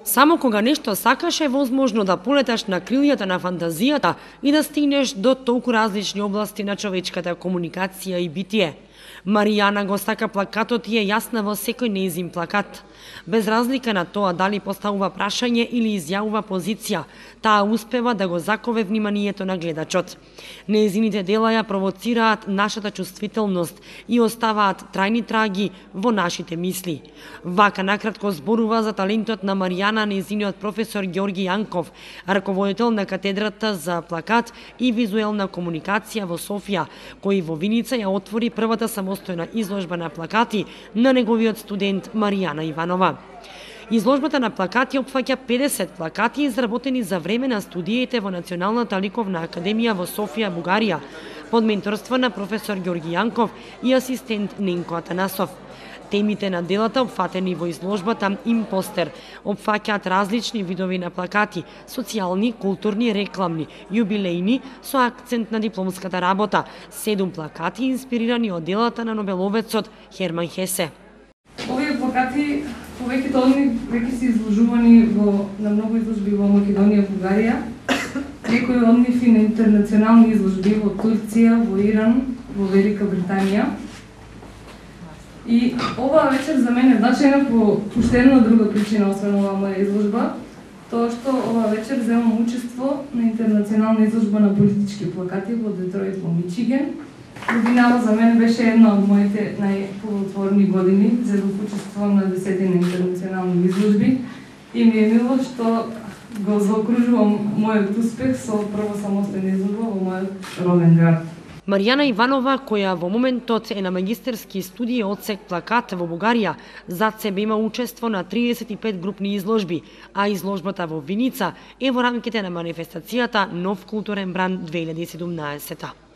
Само кога нешто сакаш е возможно да полеташ на крилјата на фантазијата и да стигнеш до толку различни области на човечката комуникација и битие. Маријана го стака плакатот и е јасна во секој нејзин плакат. Без разлика на тоа дали поставува прашање или изјавува позиција, таа успева да го закове вниманието на гледачот. Нејзините дела ја провоцираат нашата чувствителност и оставаат трајни траги во нашите мисли. Вака накратко зборува за талентот на Маријана нејзиниот професор Ѓорги Јанков, раководител на катедрата за плакат и визуелна комуникација во Софија, кој во Виница ја отвори првата самостојна изложба на плакати на неговиот студент Маријана Иванова. Изложбата на плакати опфаќа 50 плакати изработени за време на студиите во Националната ликовна академија во Софија, Бугарија, под менторство на професор Ѓорги Јанков и асистент Ненко Атанасов. Темите на делата опфатени во изложбата Импостер опфаќаат различни видови на плакати, социјални, културни, рекламни, јубилејни, со акцент на дипломската работа, 7 плакати инспирирани од делата на нобеловецот Херман Хесе. Овие плакати повеќето од нив веќе се изложувани на многу изложби во Македонија, Бугарија, некои од нив и на интернационални изложби во Турција, во Иран, во Велика Британија. И оваа вечер за мене е значајна по уште една друга причина, освен оваа моја изложба, тоа што оваа вечер земам учество на интернационална изложба на политички плакати во Детройт, во Мичиген. Годинава за мене беше една од моите најплодотворни години, зедов учествувам на 10 интернационални изложби и ми е мило што го заокружувам мојот успех со прва самостојна изложба во мојот роден град. Маријана Иванова, која во моментот е на магистерски студии одсек плакат во Бугарија, зад себе има учество на 35 групни изложби, а изложбата во Виница е во рамките на манифестацијата Нов културен бранд 2017.